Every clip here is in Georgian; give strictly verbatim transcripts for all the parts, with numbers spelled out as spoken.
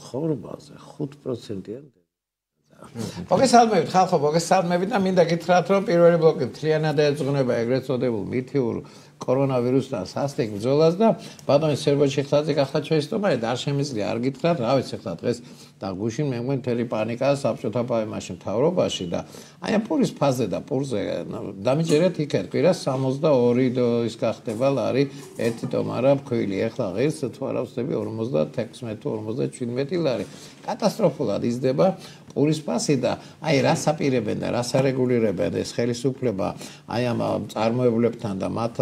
ხორბალზე ხუთ პროცენტიან მოგესალმებით ხალხო, მოგესალმებით და მინდა გითხრათ, რომ პირველი ბლოკი მთლიანად ეძღვნება ეგრეთ წოდებულ მითიურ კორონავირუსთან სასტიკ ბრძოლას და ბატონი სერბო ჩიხტაძე ახლა ჩვენი სტუმარი და არ შემიძლია არ გითხრათ, რა ვიცი ახლა დღეს და გუშინ მე მგონი თელი პანიკა საბჭოთა პაემაში მთავრობაში და აი ამ პურის ფაზე და პურზე დამიჯერეთ იქეთ კვირას სამოცდაორი ის გახდება ლარი ერთი ტომარა ფქვილი ახლა ღირს თუ არა ვსწრები ორმოცდათექვსმეტი თუ ორმოცდაჩვიდმეტი ლარი კატასტროფულად იზრდება პურის ფასი და აი რას აპირებენ და რას არეგულირებენ ეს ხელისუფლება აი ამ წარმოებლებთან და მათ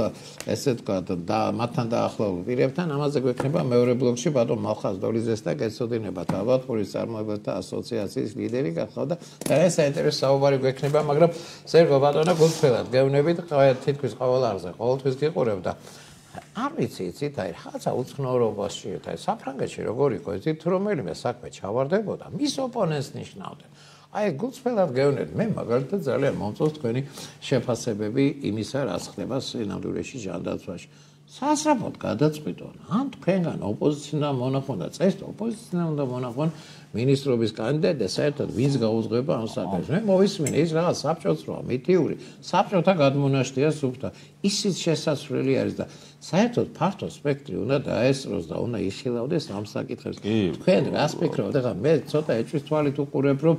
ესე ვთქვათ და მათთან დაახლოებულ პირებთან ამაზე გვექნება მეორე ბლოკში ბატონ მალხაზ დოლიძეს და გეცოდინებათ ალბათ პურის წარმოებელთა ასოციაციის ლიდერი გახდა და ეს საინტერესო საუბარი გვექნება მაგრამ სერგო ბატონო გულწრფელად გევნებით თითქმის ყოველ არზე ყოველთვის გიყურებ და არ ვიცი იცით აი რაღაცა უცნაურობაში აი საფრანგეთში როგორ იყო იცით რომელიმე საქმე ჩავარდებოდა მის ოპონენტს ნიშნავდნენ აი გულწრფელად გევნებით მე მაგალითად ძალიან მომწონს თქვენი შეფასებები იმისა რაც ხდება სინამდვილეში ჯანდაცვაში სასწრაფოდ გადაწყვიტონ ან თქვენგან ოპოზიცია მონახონ და წესთ ოპოზიცია უნდა მონახონ მინისტრობის კანდიდატი და საერთოდ ვინც გაუძღვება ამ საქმეს მე მოვისმინე ის რაღაც საბჭოც როა მითიური საბჭოთა გადმონაშთია სუფთა ისიც შესაძლებელი არის და საერთოდ ფართო სპექტრი უნდა დაესწროს და უნდა იხილავდეს ამ საკითხებს თქვენ რას ფიქრობთ ეხლა მე ცოტა ეჭვის თვალით უყურებ რომ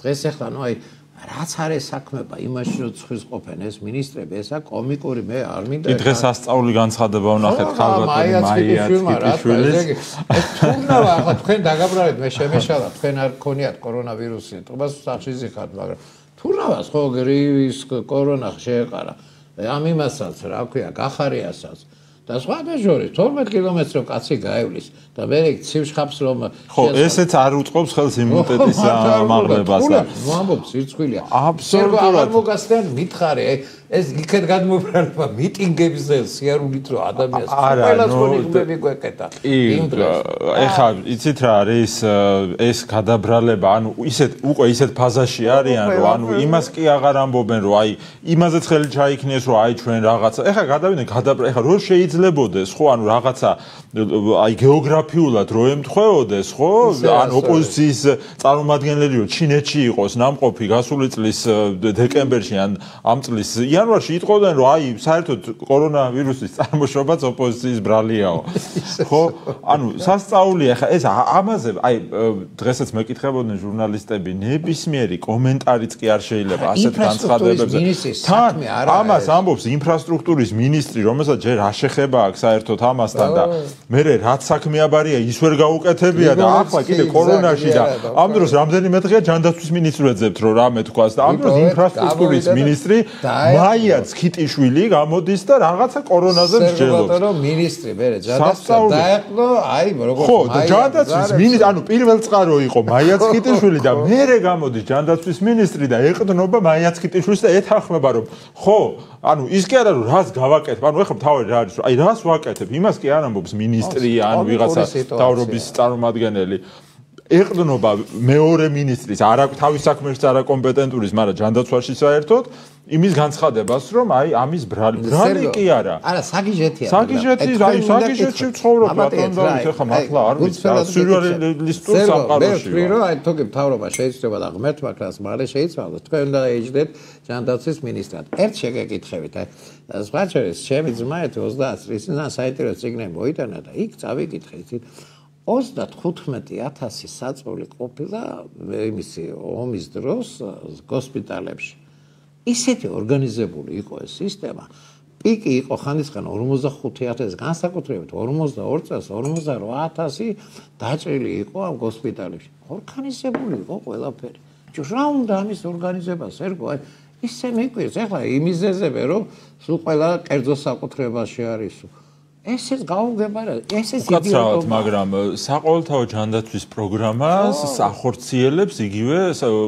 დღეს ეხლა ნუ აი რაც არის საქმეა იმაში რომ ცხვის ყოფენ ეს მინისტრები ესა კომიკური მე არ მინდა დღეს ასწავლი განცხადება ვნახეთ ხალბატონი მაია ცკიტიშვილის ეს თუნდაა ახლა თქვენ დაგაბრალეთ მე შემეშალა თქვენ არ გქონიათ კორონავირუსი თობას სახში ზიხართ მაგრამ თუნდაა ხო გრივის კორონა შეეყარა ამ იმასაც რა ქვია გახარიასაც და სხვა დაჟორი თორმეტ კილომეტრს რომ კაცი გაივლის და მე ცივშხაპს რომ ხო ესეც არ უწყობს ხელს იმუნიტეტის ამაღლებას და ვამბობ სირცხვილია აბსოლუტურად არ მოგასწრენ მითხარი ეს იქეთ გადმობრალება მიტინგებზე სიარულით რომ ადამიანს ყველას ხონიგები გვეკეტა იმ დროს ეხლა იცით რა არის ეს გადაბრალება ანუ ისეთ უკვე ისეთ ფაზაში არიან რომ ანუ იმას კი აღარ ამბობენ რომ აი იმაზეც ხელი ჩაიქნიეს რომ აი ჩვენ რაღაცა ეხლა გადავიდნენ გადაბრალება ეხლა რო შეიძლებოდეს ხო ანუ რაღაცა აი გეოგრაფიულად რო ემთხვეოდეს ხო ან ოპოზიციის წარმომადგენლები რომ ჩინეთში იყოს ნამყოფი გასული წლის დეკემბერში ან ამ წლის იანვარში იტყოდნენ რომ აი საერთოდ კორონავირუსის წარმოშობაც ოპოზიციის ბრალიაო ხო ანუ სასწაულია ხა ეს ამაზე აი დღესაც მეკითხებოდნენ ჟურნალისტები ნებისმიერი კომენტარიც კი არ შეიძლება ასეთ განცხადებებზე თან ამას ამბობს ინფრასტრუქტურის მინისტრი რომელსაც ჯერ არ შეხება აქვს საერთოდ ამასთან და მე რაც საქმეაბარია ის ვერ გაუკეთებია და ახლა კიდე კორონაში და ამ დროს რამდენიმე დღეა ჯანდაცვის მინისტრს ვეძებთ რომ რამე თქვას და ამ დროს ინფრასტრუქტურის მინისტრი მაია ცკიტიშვილი გამოდის და რაღაცა კორონაზე მსჯელობს. ბატონო მინისტრი მე ჯანდაცვა დაეყო აი როგორც ხო და ჯანდაცვის მინისტრი ანუ პირველ წყარო იყო მაია ცკიტიშვილი და მერე გამოდის ჯანდაცვის მინისტრი და ეყდნობა მაია ცკიტიშვილს და ეთანხმება რომ ხო ანუ ის კი არა რომ რას გავაკეთებ ანუ ეხლა თავი რა არის აი რას ვაკეთებ იმას კი არ ამბობს მინისტრი ან ვიღაცა თავრობის წარმომადგენელი ეყდნობა მეორე მინისტრის არა თავის საქმეში არა კომპეტენტურის მაგრამ ჯანდაცვაში საერთოდ იმის განცხადებას რომ აი ამის ბრალი ბრალი კი არა არა საგიჟეთია საგიჟეთი აი საგიჟეთში ვცხოვრობ ბატონ და ეხლა მართლა არ ვიცი სიურეალისტურ სამყაროში მე ვფიქრო აი თქო მთავრობა შეიძლება და ღმერთმა კრას მალე შეიძლება თქვენ უნდა ეჯდეთ ჯანდაცვის მინისტრად ერთ შეგეკითხებით აი სხვა შეიძლება ჩემი ძმა ოცდაათ წლის წინ საინტერესო წიგნი მოიტანა და იქ წავიკითხე იცით ოცდათხუთმეტი ათასი საწოლი ყოფილა იმისი ომის დროს ჰოსპიტალებში ისეთი ორგანიზებული იყო ეს სისტემა პიკი იყო ხანდისგან ორმოცდახუთი ათასი განსაკუთრებით ორმოცდაორი წელს ორმოცდაორი ათასი დაჭრილი იყო ამ ჰოსპიტალებში ორგანიზებული იყო ყველაფერი რა უნდა ამის ორგანიზებას ერგო აი ისე მიყვირს ეხლა იმიზეზებე რომ სულ ყველა კერძო საკუთრებაში არისო ესეც გაუგებარა ესეც იდეალურად მაგრამ საყოველთაო ჯანდაცვის პროგრამას ახორციელებს იგივე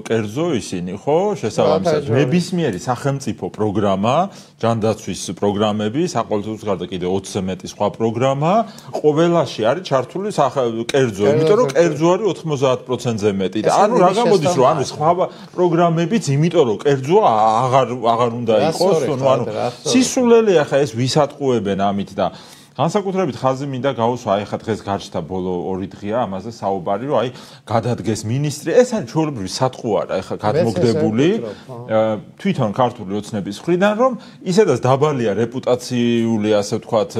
კერძო ისინი ხო შესაბამისად ნებისმიერი სახელმწიფო პროგრამა ჯანდაცვის პროგრამები საყოველთაოს გარდა კიდე ოცზე მეტი სხვა პროგრამა ყველაში არის ჩართული კერძო იმიტომ რომ კერძო არის ოთხმოცდაათ პროცენტზე მეტი და ანუ რა გამოდის რომ ანუ სხვა პროგრამებიც იმიტომ რომ კერძო აღარ აღარ უნდა იყოს ანუ სისულელე ახლა ეს ვისატყუებენ ამით და განსაკუთრებით ხაზი მინდა გაუსვა, აი ხა დღეს გარჩთა ბოლო ორი დღეა ამაზე საუბარი, რომ აი გადადგეს მინისტრი, ეს არის ჩვეულებრივი სატყუ არა, ეხა გადმოგდებული თვითონ ქართული ოცნების მხრიდან, რომ ისედაც დაბალია რეპუტაციული, ასე ვთქვათ,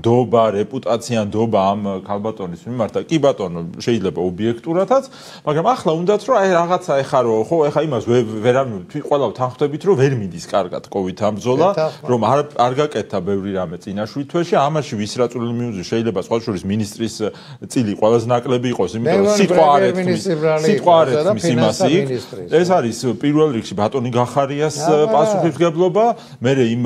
ნდობა, რეპუტაცია, ნდობა ამ ქალბატონის მიმართ და კი ბატონო, შეიძლება ობიექტურათაც, მაგრამ ახლა უნდათ რომ აი რაღაცა ეხა რომ ხო, ეხა იმას ვერავინ ყველა თანხმდებით, რომ ვერ მიდის კარგად COVID ამ ბრძოლა, რომ არ არ გაკეთდა ბევრი რამე წინაშვილ თვეში, ამაში ვისრაწული მიუძი შეიძლება სხვა შორის მინისტრის წილი ყველაზე ნაკლები იყოს, იმიტომ რომ სიტყვა არ ეთქმის, სიტყვა არ ეთქმის იმას იქ. ეს არის პირველ რიგში ბატონი გახარიას პასუხისმგებლობა, მერე იმ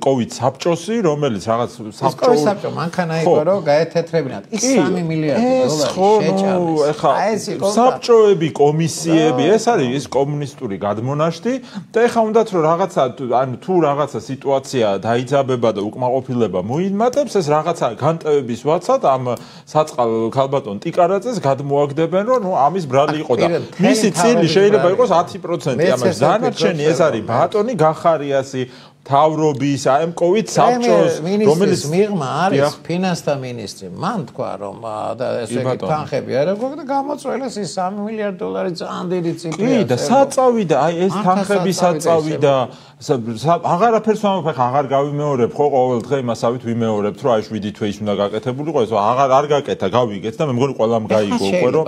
COVID საბჭოსი, რომელიც რაღაც საბჭო COVID საბჭო მანქანა იყო რომ გაეთეთრებინათ. ის სამი მილიარდი დოლარი შეჭამეს. აი ეს იყო საბჭოები, კომისიები, ეს არის ის კომუნისტური გადმონაშთი და ეხა უნდათ რომ რაღაცა ანუ თუ რაღაცა სიტუაცია დაიძაბება და უკმაყოფილება მოიმატებს, ეს რაღაცა განტევების ვაცად ამ საწყალ ქალბატონ ტიკარაძეს გადმოაგდებენ, რომ ნუ ამის ბრალი იყო და მისი წილი შეიძლება იყოს ათი პროცენტი, ამას დანარჩენი ეს არის ბატონი გახარიასი თავრობის აი ამ COVID საბჭოს, რომელიც მიღმა არის ფინანსთა მინისტრი. მან თქვა რომ და ესე იგი თანხები არ აქვს და გამოწვეულეს ის სამი მილიარდი დოლარი ძალიან დიდი ციფრია. კი და საწავი და აი ეს თანხები საწავი და აღარაფერს ვამბობ, ხა აღარ გავიმეორებ ხო ყოველ დღე იმასავით ვიმეორებთ, რომ აი შვიდი თვე ის უნდა გაკეთებულიყო, ეს აღარ არ გაკეთა, გავიგეთ და მე მგონი ყველამ გაიგო უკვე რომ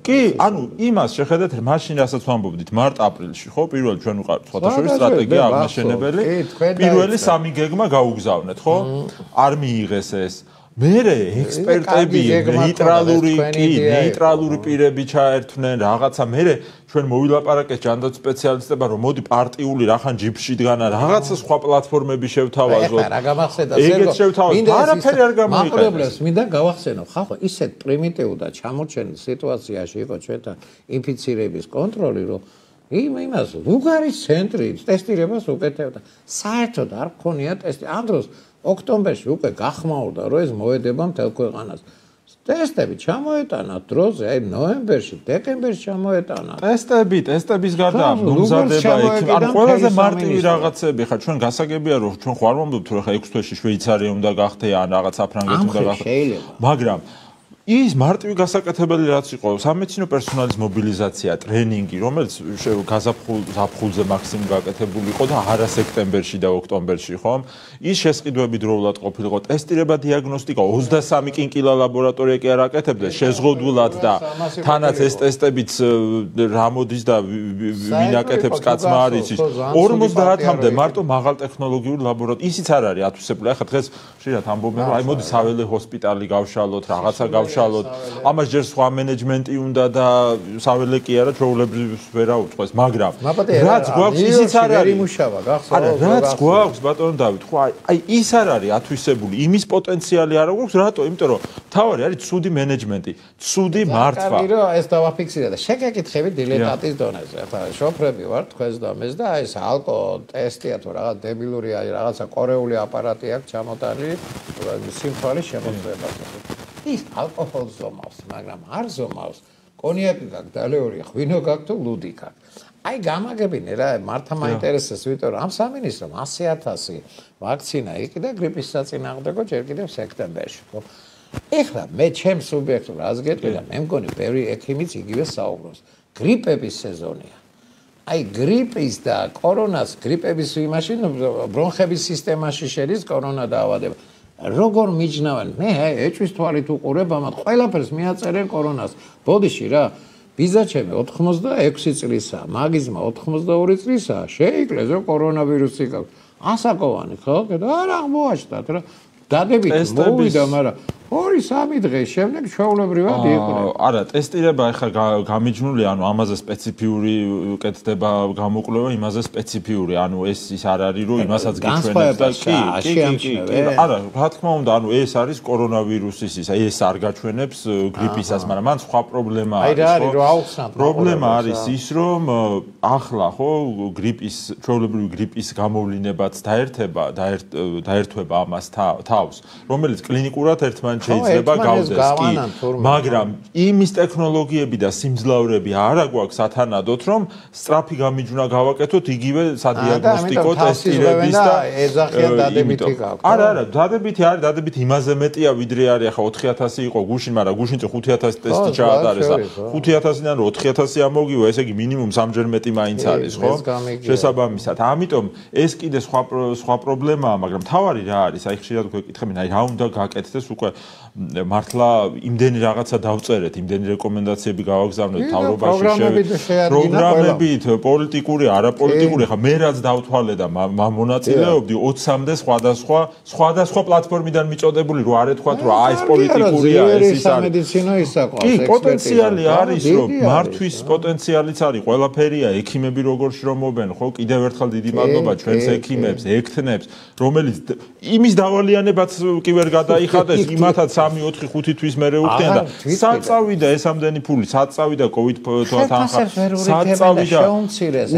კი, ანუ იმას შეხედეთ, მაშინ რასაც ვამბობდით მარტ-აპრილში ხო, პირველ ჩვენ უყართ სხვადასხვა სტრატეგია აღმაშენებელი. პირველი სამი გეგმა გაუგზავნეთ, ხო? არ მიიღეს ეს. მერე ექსპერტები ნეიტრალური კი, ნეიტრალური პირები ჩაერთვნენ რაღაცა, მერე ჩვენ მოვილაპარაკეთ ჯანდაცვის სპეციალისტებმა, რომ მოდი პარტიული რახან ჯიბში დგანა, რაღაცა სხვა პლატფორმები შევთავაზოთ. რა გამახსენდა ეგეც შევთავაზოთ. არაფერი არ გამოიყენეს. მინდა გავახსენო, ხახო, ისეთ პრიმიტიულ და ჩამორჩენილ სიტუაციაში იყო ჩვენთან ინფიცირების კონტროლი, რომ იმ იმას ლუგარის ცენტრი ტესტირებას უკეთებდა. საერთოდ არ ქონია ტესტი. ამ დროს ოქტომბერში უკვე გახმაურდა, რომ ეს მოედება მთელ ქვეყანას. ტესტები ჩამოეტანათ დროზე, აი ნოემბერში, დეკემბერში ჩამოეტანათ. ტესტები, ტესტების გარდა მომზადება იქ, ანუ ყველაზე მარტივი რაღაცები, ხა ჩვენ გასაგებია, რომ ჩვენ ხوار მომდობთ, რომ ხა ექვს თვეში შვეიცარია უნდა გახდე, ან რაღაც საფრანგეთი უნდა გახდე. მაგრამ ის მარტივი გასაკეთებელი რაც იყო, სამედიცინო პერსონალის მობილიზაცია, ტრენინგი, რომელიც გაზაფხულზე მაქსიმუმ გაკეთებული იყო და არა სექტემბერში და ოქტომბერში, ხომ? ის შესყიდვები დროულად ყოფილიყო, ტესტირება, დიაგნოსტიკა, ოცდასამი კინკილა ლაბორატორია კი არ აკეთებდეს, შეზღუდულად და თანაც ეს ტესტებიც რა მოდის და ვინ აკეთებს კაცმა არ იცის. ორმოცდაათამდე მარტო მაღალ ტექნოლოგიური ლაბორატორია. ისიც არ არის ათვისებული. ახლა დღეს ხშირად ამბობენ, რომ აი მოდი საველე ჰოსპიტალი გავშალოთ, რაღაცა გავშალოთ. ამას ჯერ სხვა მენეჯმენტი უნდა და საველე კი არა, ჩვეულებრივს ვერა უწყეს, მაგრამ რაც გვაქვს ისიც არ არის. არა, რაც გვაქვს ბატონო დავით, ხო აი ის არ არის ათვისებული, იმის პოტენციალი არ აქვს, რატო? იმიტომ რომ თავარი არის ცუდი მენეჯმენტი, ცუდი მართვა. კარგი რომ ეს დავაფიქსირე და შეგეკითხები დილეტატის დონეზე. ახლა შოფრები ვარ თქვენს დომეს და ეს ალკო ტესტია თუ რაღაც დებილური აი რაღაცა კორეული აპარატი აქვს ჩამოტანილი, სიმთვრალის შემოწმებაზე. ის ალკოჰოლს ზომავს, მაგრამ არ ზომავს. კონიაკი გაქვს, დალეული, ღვინო გაქვს თუ ლუდი გაქვს. აი გამაგებინე რა, მართა მაინტერესებს, იმიტომ რომ ამ სამინისტრომ ასი ათასი ვაქცინა იყიდა გრიპის საწინააღმდეგო ჯერ კიდევ სექტემბერში, ხო? ეხლა მე ჩემს სუბიექტურ რას გეტყვი და მე მგონი ბევრი ექიმიც იგივე საუბრობს. გრიპების სეზონია. აი გრიპის და კორონას, გრიპების იმაში, ბრონხების სისტემაში შედის კორონა დაავადება. როგორ მიჯნავენ? მე ეჭვის თვალით უყურებ ამათ, ყველაფერს მიაწერენ კორონას. ბოდიში რა, ბიზა ჩემი ოთხმოცდაექვსი წლისაა, მაგიზმა ოთხმოცდაორი წლისაა, შეიკლეს რომ კორონავირუსი გაქვს. ასაკოვანი ხო? და არ აღმოაჩნდათ რა. დადებით მოვიდა, მაგრამ ორი სამი დღის შემდეგ ჩვეულებრივად იყვნენ. არა, ტესტირება ახლა გამიჯნული, ანუ ამაზე სპეციფიური კეთდება გამოკვლევა, იმაზე სპეციფიური, ანუ ეს ის არ არის, რომ იმასაც გიჩვენებს და კი, კი, კი. არა, რა თქმა უნდა, ანუ ეს არის კორონავირუსის ის, ეს არ გაჩვენებს გრიპისას, მაგრამ მან სხვა პრობლემა არის, ხო? აი რა არის, რომ აუხსნათ. პრობლემა არის ის, რომ ახლა ხო გრიპის, ჩვეულებრივი გრიპის გამოვლინებაც დაერთება, დაერთვება ამას თავს, რომელიც კლინიკურად ერთმანეთს შეიძლება გავდეს კი, მაგრამ იმის ტექნოლოგიები და სიმძლავრეები არა გვაქვს ათანადოთ, რომ სწრაფი გამიჯვნა გავაკეთოთ იგივე სადიაგნოსტიკო ტესტირების და ეძახიან დადებითი გაქვთ. არა, არა, დადებითი არის, დადებითი იმაზე მეტია, ვიდრე არის ახლა ოთხი ათასი იყო გუშინ, მაგრამ გუშინ წინ ხუთი ათასი ტესტი ჩაატარეს და ხუთი ათასიდან რო ოთხი ათასი ამოვიგო, ესე იგი მინიმუმ სამჯერ მეტი მაინც არის, ხო? შესაბამისად, ამიტომ ეს კიდე სხვა სხვა პრობლემაა, მაგრამ თავარი რა არის? აი ხშირად გვეკითხებიან, აი რა უნდა გაკეთდეს უკვე მართლა იმდენი რაღაცა დავწერეთ, იმდენი რეკომენდაციები გავაგზავნეთ თავრობაში, პროგრამებით, პოლიტიკური, არაპოლიტიკური, ხა მე რაც დავთვალე და მონაწილეობდი ოცამდე სხვადასხვა სხვადასხვა პლატფორმიდან მიწოდებული, რო არ ეთქვათ, რომ აი ეს პოლიტიკურია, ეს ის არის. სამედიცინო ისაყავს, კი, პოტენციალი არის, რომ მართვის პოტენციალიც არის, ყველაფერია, ექიმები როგორ შრომობენ, ხო? კიდევ ერთხელ დიდი მადლობა ჩვენს ექიმებს, ექთნებს, რომელიც იმის დავალიანებაც კი ვერ გადაიხადეს, იმათაც სამი ოთხი ხუთი თვის მერე უხდიან და საწავიდა ეს ამდენი ფული, საწავიდა კოვიდ თანხა, საწავიდა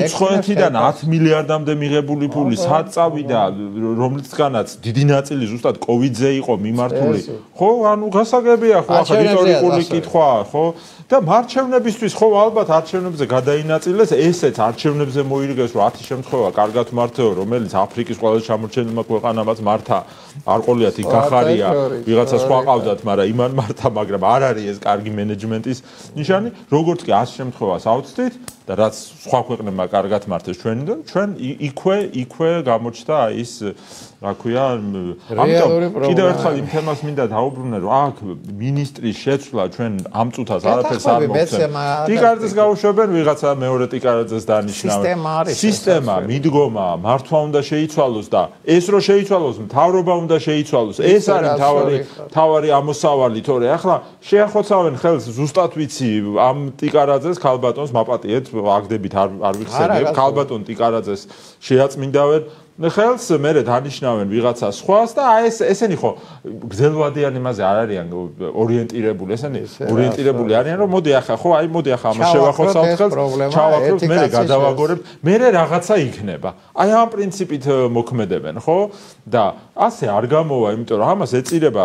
უცხოეთიდან ათი მილიარდამდე მიღებული ფული, საწავიდა რომლისგანაც დიდი ნაწილი ზუსტად კოვიდზე იყო მიმართული. ხო, ანუ გასაგებია ხო, ახლა რიტორიკული კითხვაა, ხო? და მარჩევნებისთვის ხო ალბათ არჩევნებზე გადაინაწილეს, ესეც არჩევნებზე მოირგეს, რომ ათი შემთხვევა კარგად მართეო, რომელიც აფრიკის ყველაზე ჩამორჩენილმა ქვეყანამაც მართა, არ ყოლიათ იქ გახარია, ვიღაცა სხვა ყავდათ, მაგრამ იმან მართა, მაგრამ არ არის ეს კარგი მენეჯმენტის ნიშანი, როგორც კი ას შემთხვევას ავწდით და რაც სხვა ქვეყნებმა კარგად მართეს ჩვენი და ჩვენ იქვე იქვე გამოჩნდა ის რა ქვია, ამიტომ კიდევ ერთხელ იმ თემას მინდა დაუბრუნე, რომ აქ მინისტრის შეცვლა ჩვენ ამ წუთას არაფერს არ მოგცემ. ტიკარაძეს გაუშვებენ, ვიღაცა მეორე ტიკარაძეს დანიშნავენ. სისტემა, მიდგომა, მართვა უნდა შეიცვალოს და ეს რო შეიცვალოს, მთავრობა უნდა შეიცვალოს. ეს არის მთავარი მთავარი ამოსავალი, თორე ახლა შეახოცავენ ხელს, ზუსტად ვიცი, ამ ტიკარაძეს ქალბატონს მაპატიეთ, აგდებით არ არ ვიხსენებ, ქალბატონ ტიკარაძეს შეაწმინდავენ. ხელს მერე დანიშნავენ ვიღაცა სხვას და აი ეს ესენი ხო გზელვადიან იმაზე არ არიან ორიენტირებული, ესენი ორიენტირებული არიან, რომ მოდი ახლა ხო, აი მოდი ახლა ამას შევახოცავთ ხელს, ჩავაკლებთ, მერე გადავაგორებთ, მერე რაღაცა იქნება. აი ამ პრინციპით მოქმედებენ, ხო? და ასე არ გამოვა, იმიტომ რომ ამას ეწირება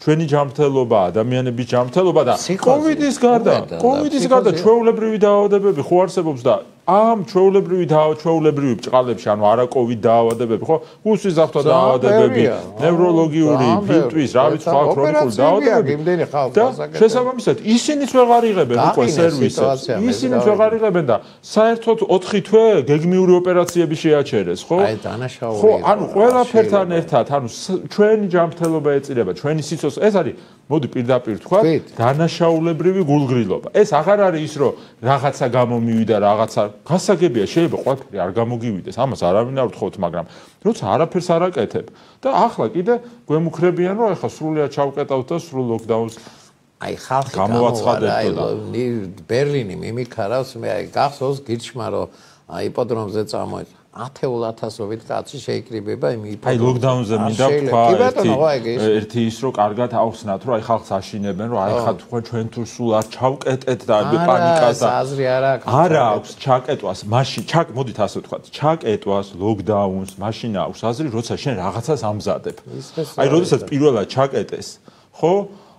ჩვენი ჯანმრთელობა, ადამიანების ჯანმრთელობა და კოვიდის გარდა, კოვიდის გარდა ჩვეულებრივი დაავადებები ხო არსებობს და ამ ჩვეულებრივი ჩვეულებრივი ბჭყალებში, ანუ არა კოვიდ დაავადებები, ხო? გუსის ზაფხვა დაავადებები, ნევროლოგიური, ფილტვის, რა ვიცი, სხვა ქრონიკული დაავადებები. და შესაბამისად, ისინიც ვეღარ იღებენ უკვე სერვისებს. ისინიც ვეღარ იღებენ და საერთოდ ოთხი თვე გეგმიური ოპერაციები შეაჩერეს, ხო? აი დანაშაული. ხო, ანუ ყველაფერთან ერთად, ანუ ჩვენი ჯანმრთელობა ეწირება, ჩვენი სიცოცხლე, ეს არის მოდი პირდაპირ თქვა, დანაშაულებრივი გულგრილობა. ეს აღარ არის ის, რომ რაღაცა გამომივიდა, რაღაცა გასაგებია, შეიძლება ყველაფერი არ გამოგივიდეს, ამას არავინ არ ვთხოვთ, მაგრამ როცა არაფერს არ აკეთებ და ახლა კიდე გვემუქრებიან, რომ ახლა სრულიად ჩავკეტავთ და სრულ ლოკდაუნს აი ხალხი გამოვაცხადებთ და ბერლინი მიმიქარავს, მე აი გახსოვს გირჩმა, რომ იპოდრომზე წამოეწვა ათეულ ათასობით კაცი შეიკრიბება იმ იპოდრომზე. აი ლოკდაუნზე მინდა ვთქვა ერთი ის, რომ კარგად ახსნათ, რომ აი ხალხს აშინებენ, რომ აი ხა თქვენ ჩვენ თუ სულ არ ჩავკეტეთ და პანიკას და აზრი არ აქვს. არა აქვს ჩაკეტვას, მაშინ ჩაკ მოდით ასე ვთქვათ, ჩაკეტვას, ლოკდაუნს, მაშინ აქვს აზრი, როცა შენ რაღაცას ამზადებ. აი როდესაც პირველად ჩაკეტეს, ხო?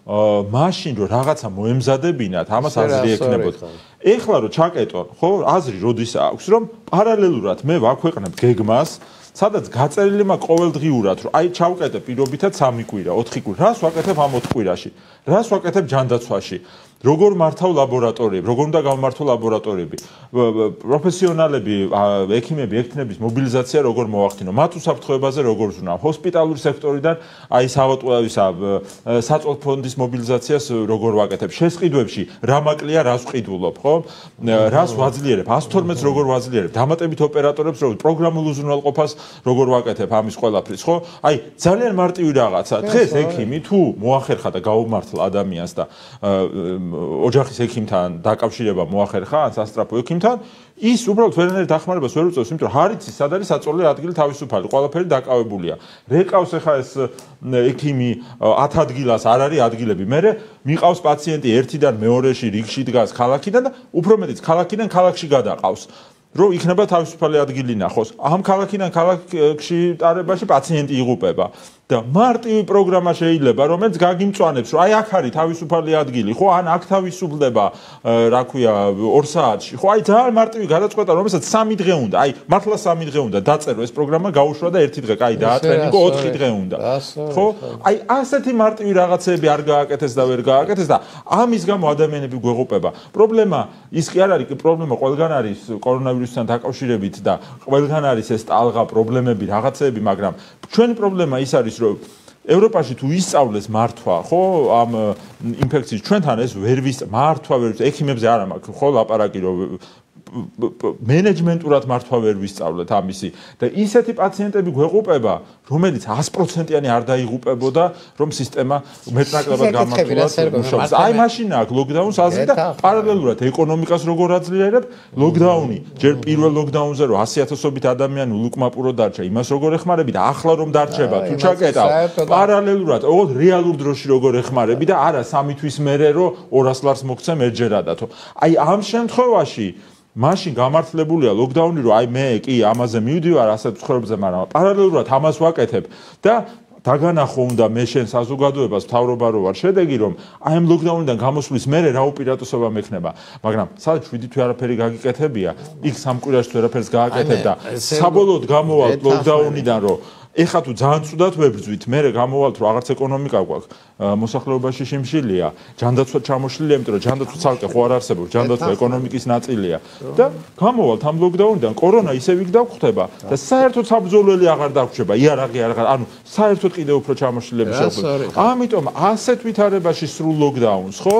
მაშინ რომ რაღაცა მოემზადებინათ, ამას აზრი ექნებოდ. ეხლა რომ ჩაკეტონ, ხო, აზრი როდის აქვს, რომ პარალელურად მე ვაქვეყნებ გეგმას, სადაც გაწერილი მაქვს ყოველდღიურად, რომ აი ჩავკეტე პირობითად სამი კვირა, ოთხი კვირა, რას ვაკეთებ ამ ოთხ კვირაში, რას ვაკეთებ ჯანდაცვაში, როგორ მართავ ლაბორატორიები, როგორ უნდა გავმართო ლაბორატორიები, პროფესიონალები, ექიმები, ექთნების მობილიზაცია როგორ მოახდინო, მათ უსაფრთხოებაზე როგორ ზრუნავ, ჰოსპიტალური სექტორიდან აი საავადმყოფოებისა საწოლ ფონდის მობილიზაციას როგორ ვაკეთებ, შესყიდვებში რა მაკლია, რას ვყიდულობ, ხო? რას ვაძლიერებ, ას თორმეტს როგორ ვაძლიერებ, დამატებით ოპერატორებს როგორ პროგრამულ უზრუნველყოფას როგორ ვაკეთებ ამის ყველაფრის, ხო? აი ძალიან მარტივი რაღაცა. დღეს ექიმი თუ მოახერხა და გაუმართლა ადამიანს და ოჯახის ექიმთან დაკავშირება მოახერხა ან სასტრაფო ექიმთან, ის უბრალოდ ვერანაირ დახმარებას ვერ უწევს, იმიტომ რომ არ იცის სად არის საწოლი ადგილი თავისუფალი, ყველაფერი დაკავებულია. რეკავს ახლა ეს ექიმი ათ ადგილას არ არის ადგილები. მერე მიყავს პაციენტი ერთიდან მეორეში რიგში დგას ქალაქიდან და უფრო მეტიც ქალაქიდან ქალაქში გადაყავს. რომ იქნება თავისუფალი ადგილი ნახოს. ამ ქალაქიდან ქალაქში ტარებაში პაციენტი იღუპება. და მარტივი პროგრამა შეიძლება რომელიც გაგიმწვანებს რომ აი აქ არის თავისუფალი ადგილი ხო ან აქ თავისუფლდება რა ქვია ორ საათში ხო აი ძალიან მარტივი გადაწყვეტა რომელსაც სამი დღე უნდა აი მართლა სამი დღე უნდა დაწერო ეს პროგრამა გაუშვა და ერთი დღე კაი დაატრენინგო ოთხი დღე უნდა ხო აი ასეთი მარტივი რაღაცები არ გააკეთეს და ვერ გააკეთეს და ამის გამო ადამიანები გვეღუპება პრობლემა ის კი არ არის კი პრობლემა ყველგან არის კორონავირუსთან დაკავშირებით და ყველგან არის ეს ტალღა პრობლემები რაღაცეები მაგრამ ჩვენი პრობლემა ის არის რომ ევროპაში თუ ისწავლეს მართვა ხო ამ ინფექციის ჩვენთან ეს ვერ ვის მართვა ვერ ექიმებზე არ მაქვს ხო ლაპარაკი რომ მენეჯმენტურად მართვა ვერ ვისწავლეთ ამისი და ისეთი პაციენტები გვეღუპება რომელიც sto პროცენტიანი არ დაიღუპებოდა რომ სისტემა მეტნაკლებად გამართულად მუშაობს აი მაშინ აქ ლოკდაუნს აზრი და პარალელურად ეკონომიკას როგორ აძლიერებ ლოკდაუნი ჯერ პირველ ლოკდაუნზე რომ ასი ათასობით ადამიანი ულუკმაპურო დარჩა იმას როგორ ეხმარები და ახლა რომ დარჩება თუ ჩაკეტავ პარალელურად ოღონდ რეალურ დროში როგორ ეხმარები და არა სამი თვის მერე რომ ორას ლარს მოგცემ ერთჯერადათო აი ამ შემთხვევაში მაშინ გამართლებულია ლოკდაუნი რომ აი მე კი ამაზე მივდივარ ასეთ ცხოვრებზე მაგრამ პარალელურად ამას ვაკეთებ და დაგანახო უნდა მე შენ საზოგადოებას მთავრობა რო ვარ შედეგი რომ აი ამ ლოკდაუნიდან გამოსვლის მერე რა უპირატესობა მექნება მაგრამ სადაც შვიდი თვე არაფერი გაგიკეთებია იქ სამ კვირაში თუ არაფერს გააკეთებ და საბოლოოდ გამოვალ ლოკდაუნიდან რომ ეხლა თუ ძალიან ცუდად ვებრძვით მე გამოვალთ რომ აღარც ეკონომიკა გვაქვს მოსახლეობაში შიმშილია ჯანდაცვა ჩამოშლილია იმიტომ რომ ჯანდაცვა ცალკე ხო არ არსებობს ჯანდაცვა ეკონომიკის ნაწილია და გამოვალთ ამ ლოკდაუნიდან კორონა ისევ იქ დაგხვდება და საერთოდ საბრძოლველი აღარ დაგვრჩება იარაღი აღარ ანუ საერთოდ კიდევ უფრო ჩამოშლილების შეუძლია ამიტომ ასეთ ვითარებაში სრულ ლოკდაუნს ხო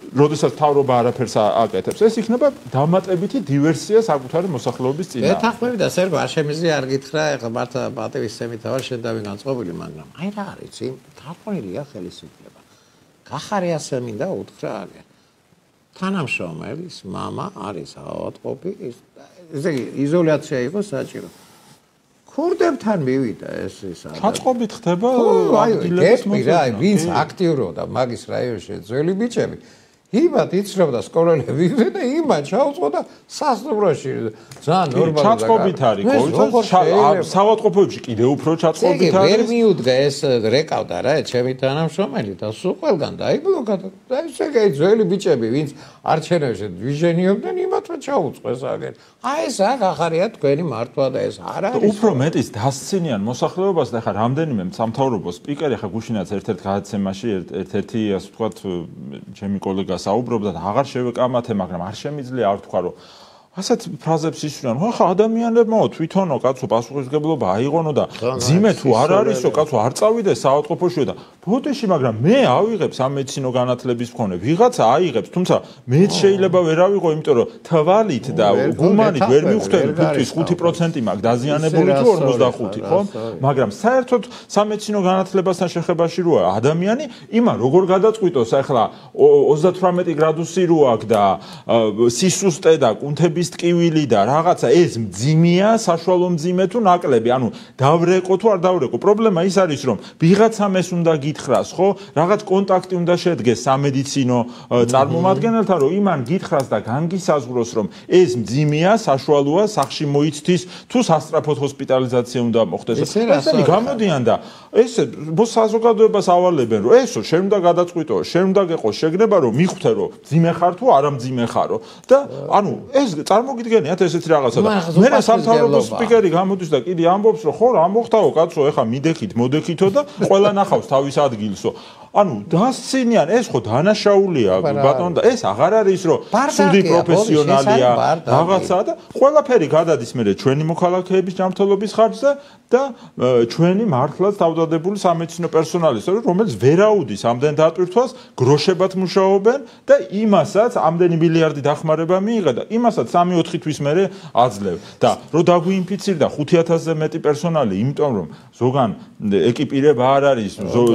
როდესაც თავრობა არაფერს აკეთებს ეს იქნება დამატებითი დივერსია საკუთარი მოსახლეობის წინააღმდეგ. ეთანხმები და სერგო არ შემიძლია არ გითხრა ეხლა მართა პატივისცემით ვარ შენ და ვინანწყობილი მაგრამ აი რა არის იმ თარყმელია ხელისუფლება. გახარე ასე მინდა უთხრა არის. თანამშრომელის მამა არის ავადმყოფი ესე იგი იზოლაცია იყო საჭირო. ქურდებთან მივიდა ეს ის არის. ჩაწყობით ხდება ადგილების მოძრაობა. აი ვინც აქტიურობდა მაგის რაიონში ძველი ბიჭები იმათ იცრობდა სკოლელები და იმათ ჩაუწყო და სასტუმროში ძალიან ნორმალურად ჩაწყობით არის ყოველთვის საავადმყოფოებში კიდევ უფრო ჩაწყობით არის ვერ მიუდგა ეს რეკავდა რა ჩემი თანამშრომელი და სულ ყველგან დაიბლოკა და ესე იგი ძველი ბიჭები ვინც არჩევნებში ვიჟენიობდნენ იმათმა ჩაუწყეს აგერ აი ეს აქ ახარია თქვენი მართვა და ეს არ არის უფრო მეტის დასცინიან მოსახლეობას და ხა რამდენიმე სამთავრობო სპიკერი ხა გუშინაც ერთ-ერთ გადაცემაში ერთ-ერთი ასე ვთქვათ ჩემი კოლეგა საუბრობდა და აღარ შევეკამათე, მაგრამ არ შემიძლია არ თქვა, რომ ასეთ ფრაზებს ისვრიან, ხა ადამიანებმო თვითონო კაცო პასუხისმგებლობა აიღონო და ძიმე თუ არ არისო კაცო არ წავიდეს საავადმყოფოში და ბოდიში, მაგრამ მე ავიღებ სამედიცინო განათლების მქონე, ვიღაცა აიღებს, თუმცა მეც შეიძლება ვერ ავიღო, იმიტომ რომ თვალით და გუმანით ვერ მივხვდები ფუტკრის ხუთი პროცენტი მაქვს დაზიანებული თუ ორმოცდახუთი, ხო? მაგრამ საერთოდ სამედიცინო განათლებასთან შეხებაში როა ადამიანი, იმა როგორ გადაწყვიტოს ახლა ოცდათვრამეტი გრადუსი რო აქვს და სისუსტე და კუნთები ტკივილი და რაღაცა ეს მძიმეა საშუალო მძიმე თუ ნაკლები ანუ დავრეკო თუ არ დავრეკო პრობლემა ის არის რომ ვიღაცამ ეს უნდა გითხრას ხო რაღაც კონტაქტი უნდა შედგეს სამედიცინო წარმომადგენელთან რომ იმან გითხრას და განგისაზღვროს რომ ეს მძიმეა საშუალოა სახში მოიცდის თუ სასწრაფოდ ჰოსპიტალიზაცია უნდა მოხდეს ესენი გამოდიან და ეს საზოგადოებას ავალებენ რომ ესო შენ უნდა გადაწყვიტო შენ უნდა გეყოს შეგნება რომ მიხვდე რომ მძიმე ხარ თუ არა მძიმე ხარო და ანუ ეს წარმოგიდგენიათ ესეთი რაღაცა და მე სამთავრობო სპიკერი გამოდის და კიდე ამბობს რომ ხო რა მოხდაო კაცო ეხა მიდექით მოდექითო და ყველა ნახავს თავის ადგილსო ანუ დასცინიან ეს ხო დანაშაულია ბატონო და ეს აღარ არის რომ სუდი პროფესიონალია რაღაცა და ყველაფერი გადადის მე ჩვენი მოქალაქეების ჯანმრთელობის ხარჯზე და ჩვენი მართლაც თავდადებული სამედიცინო პერსონალის რომელიც ვერაუდის ამდენ დატვირთვას გროშებად მუშაობენ და იმასაც ამდენი მილიარდი დახმარება მიიღე და იმასაც სამი ოთხი თვის მერე აძლევ და რომ დაგვინფიცირდა ხუთი ათასზე მეტი პერსონალი იმიტომ რომ ზოგან ეკიპირება არ არის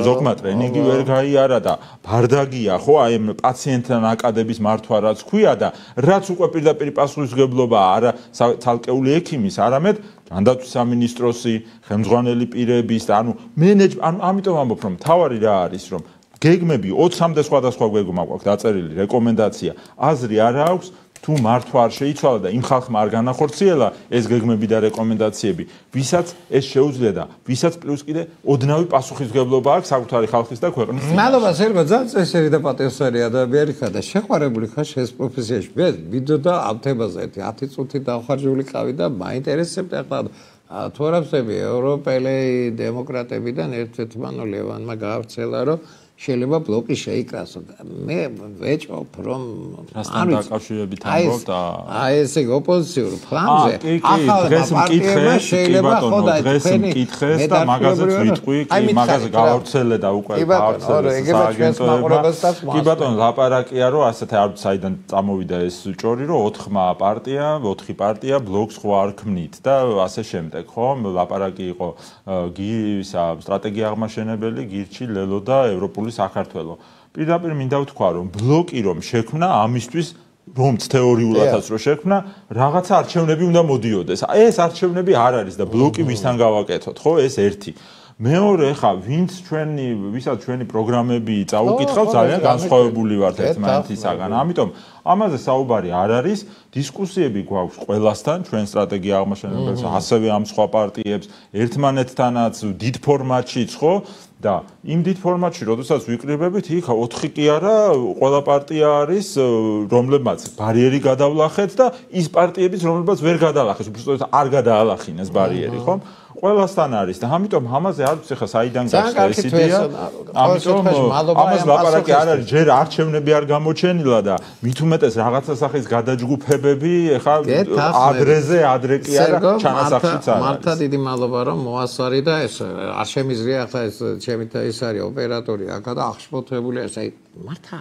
ზოგმა ტრენინგი ვერ გაიარა და ბარდაგია ხო აი ამ პაციენტთან აკადების მართვა რაც ქვია და რაც უკვე პირდაპირ პასუხისმგებლობა არა ცალკეული ექიმის არამედ ჯანდაცვის სამინისტროსი ხელმძღვანელი პირების და ანუ მენეჯმენტი ანუ ამიტომ ამბობ რომ თავარი რა არის რომ გეგმები ოცამდე სხვადასხვა გეგმა გვაქვს დაწერილი რეკომენდაცია აზრი არა აქვს თუ მართვა არ შეიცვალა და იმ ხალხმა არ განახორციელა ეს გეგმები და რეკომენდაციები, ვისაც ეს შეუძლია და ვისაც პლუს კიდე ოდნავი პასუხისმგებლობა აქვს საკუთარი ხალხის და ქვეყნის წინაშე. მადლობა სერგო, ძალიან წესიერი და პატიოსანი ადამიანი ხარ და შეყვარებული ხარ შენს პროფესიაში. მე ვიდეოდა ამ თემაზე ერთი ათი წუთი დავხარჯული ყავი და მაინტერესებდა ახლა თუ არა ვსები ევროპელი დემოკრატებიდან ერთ-ერთმა ლევანმა გაავრცელა რომ შეიძლება ბლოკი შეიკრასო და მე ვეჭობ რომ რასთან დაკავშირებით ამბობ და აი ესე ოპოზიციურ ფლანგზე ახლა დღეს მკითხეს შეიძლება ხოდა დღეს მკითხეს და მაგაზეც ვიტყვი კი მაგაზე გაავრცელე და უკვე გაავრცელე სააგენტოებმა კი ბატონო ლაპარაკია რომ ასეთ არ საიდან წამოვიდა ეს ჭორი რომ ოთხმა პარტია ოთხი პარტია ბლოკს ხო არ ქმნით და ასე შემდეგ ხო ლაპარაკი იყო ისა სტრატეგია აღმაშენებელი გირჩი ლელო და ევროპული საქართველო. პირდაპირ მინდა ვთქვა რომ ბლოკი რომ შექმნა ამისთვის რომც თეორიულადაც რომ შექმნა რაღაცა არჩევნები უნდა მოდიოდეს. ეს არჩევნები არ არის და ბლოკი ვისთან გავაკეთოთ, ხო? ეს ერთი. მეორე ხა ვინც ჩვენი ვისაც ჩვენი პროგრამები წაუკითხავთ ძალიან განსხვავებული ვართ ერთმანეთისაგან. ამიტომ ამაზე საუბარი არ არის, დისკუსიები გვაქვს ყველასთან, ჩვენ სტრატეგია აღმაშენებელს, ასევე ამ სხვა პარტიებს, ერთმანეთთანაც დიდ ფორმატშიც, ხო? და იმ დიდ ფორმატში, როდესაც ვიკრიბებით, იქ ოთხი კი არა, ყველა პარტია არის, რომლებმაც ბარიერი გადავლახეთ და ის პარტიებიც, რომლებმაც ვერ გადალახეს, უბრალოდ არ გადაალახინეს ბარიერი, ხო? ყველასთან არის და ამიტომ ამაზე არ ვიცი ხა საიდან გაჩნდა ეს იდეა. ამიტომ ამას ლაპარაკი არ არის, ჯერ არჩევნები არ გამოჩენილა და მით უმეტეს რაღაცა სახის გადაჯგუფებები, ხა ადრეზე ადრე კი არა, ჩანასახშიც არის. მართლა დიდი მადლობა რომ მოასვარი და ეს არ შემიძლია ახლა ეს ჩემი ის არის ოპერატორი აქა და აღშფოთებული ეს აი მართლა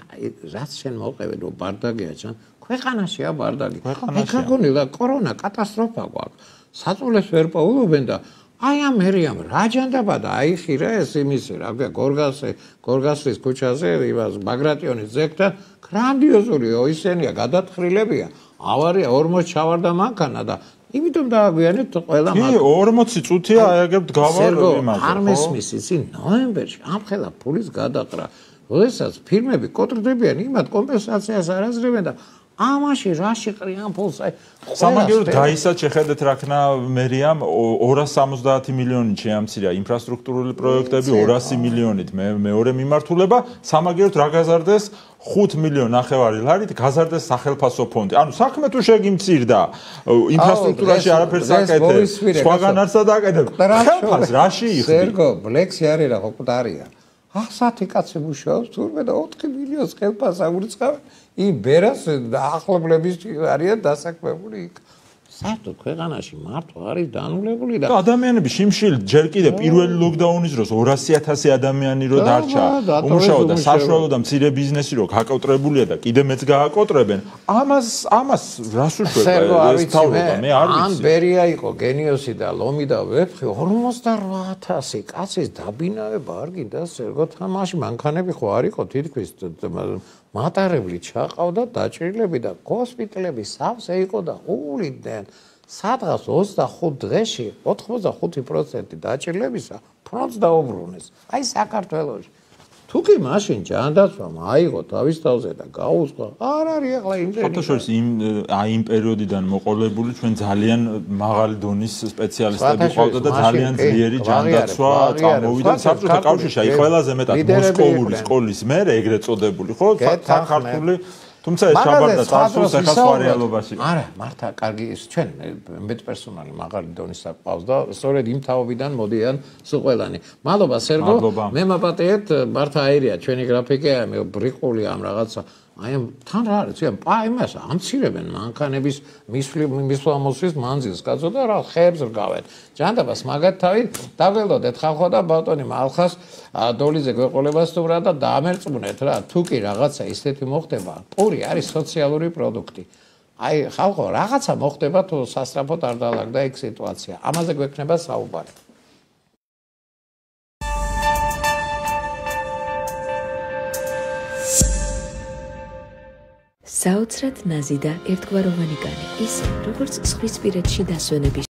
რაც შენ მოყევი რომ ბარდაგია ჩან ქვეყანაშია ბარდაგი. ეხლა გონილა კორონა კატასტროფა გვაქვს. საწოლეს ვერ პოულობენ და აი ამ მერიამ რა ჯანდაბა და აიხირა ეს იმისი რა ქვია გორგასე გორგასლის ქუჩაზე იმას ბაგრატიონის ძეგლთან გრანდიოზული ისენია გადათხრილებია ავარია ორმოც ჩავარდა მანქანა და იმიტომ დააგვიანებთ ყველა მაგ კი ორმოცი წუთია ააგებთ გავარ იმაზე არ მესმის ისი ნოემბერში ამ ხელა ფულის გადაყრა როდესაც ფირმები კოტრდებიან იმათ კომპენსაციას არ აძლევენ და ამაში რაში ყრიან ფულს აი სამაგიეროდ გაისაც შეხედეთ რაქნა მერიამ ორას სამოცდაათი მილიონით შეამცირა ინფრასტრუქტურული პროექტები ორასი მილიონით მეორე მიმართულება სამაგიეროდ რა გაზარდეს ხუთ მილიონ ნახევარი ლარით გაზარდეს სახელმწიფო ფონდი ანუ საქმე თუ შეგიმცირდა ინფრასტრუქტურაში არაფერს აკეთებ სხვაგან არც დაკეთებ ხელფას რაში იხდი სერგო ბლექსი არის რა ხო ყდარია ასათი კაცი მუშაობს თურმე და ოთხი მილიონს ხელფას აურიცხავენ იმ ბერას ახლობლების არიან დასაქმებული იქ. საერთოდ ქვეყანაში მართვა არის დანულებული და ადამიანები შიმშილ ჯერ კიდე პირველი ლოკდაუნის დროს ორასი ათასი ადამიანი რო დარჩა უმუშაო და საშუალო და მცირე ბიზნესი რო გაკოტრებულია და კიდე მეც გააკოტრებენ ამას ამას რას უშვება ეს თავრობა მე არ ვიცი ან ბერია იყო გენიოსი და ლომი და ვეფხი ორმოცდაოთხ ათასი კაცის დაბინავება არ გინდა სერგო თამაში მანქანები ხო არ იყო თითქმის მატარებლი ჩაყავდა დაჭრილები და ჰოსპიტალები სავსე იყო და უვლიდნენ სადღაც ოცდახუთ დღეში ოთხმოცდახუთი პროცენტი დაჭრილებისა ფრონტს დაუბრუნეს აი საქართველოში თუ კი მაშინ ჯანდაცვამ აიღო თავის თავზე და გაუძღვა არ არის ახლა იმდენი ფოტოშოპის იმ აი იმ პერიოდიდან მოყოლებული ჩვენ ძალიან მაღალი დონის სპეციალისტები ყავდა და ძალიან ძლიერი ჯანდაცვა წამოვიდა საბჭოთა კავშირში აი ყველაზე მეტად მოსკოვური სკოლის მერე ეგრეთ წოდებული ხო ქართული თუმცა ეს ჩაბარდა წარსულს ახლა სხვა რეალობაში არა მართა კარგი ის ჩვენ მეტ პერსონალი მაღალი დონის საყავს და სწორედ იმ თაობიდან მოდიან სულ ყველანი მადლობა სერგო მე მაპატიეთ მართა აირია ჩვენი გრაფიკი მე ბრიყული ამ რაღაცა აი ამ თან რა არის ციან პა იმას ამცირებენ მანქანების მისვლამოსვის მანძილს კაცო და რა ხეებს რგავენ ჯანდაბას მაგათ თავი დაგველოდეთ ხალხო და ბატონი მალხას დოლიზე გვეყოლებას თუ რა და დაამერწმუნეთ რა თუ კი რაღაცა ისეთი მოხდება პური არის სოციალური პროდუქტი აი ხალხო რაღაცა მოხდება თუ სასწრაფოდ არ დაალაგდა ეგ სიტუაცია ამაზე გვექნება საუბარი საოცრად ნაზი და ერთგვაროვანი კანი, ისე როგორც ზღვისპირეთში დასვენების